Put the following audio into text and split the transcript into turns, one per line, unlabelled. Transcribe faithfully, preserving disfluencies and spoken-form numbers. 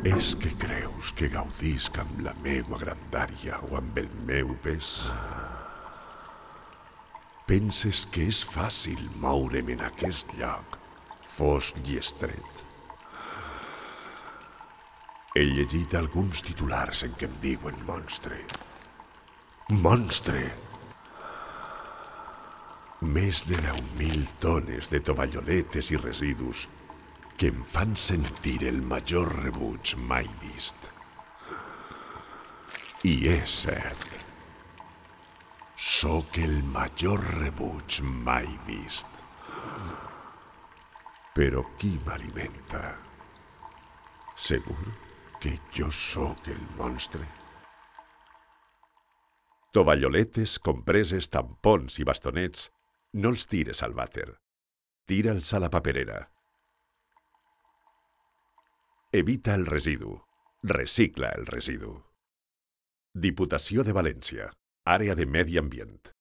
És que creus que gaudisc amb la meua grandària o amb el meu pes? Penses que és fàcil moure'm en aquest lloc, fosc i estret? He llegit alguns titulars en què em diuen monstre. Monstre! Més de deu mil tones de tovalloletes i residus que em fan sentir el major rebuig mai vist. I és cert. Sóc el major rebuig mai vist. Però qui m'alimenta? Segur que jo sóc el monstre? Tovalloletes, compreses, tampons i bastonets no els tires al vàter. Tira'ls a la paperera. Evita el residu. Recicla el residu. Diputació de València. Àrea de Medi Ambient.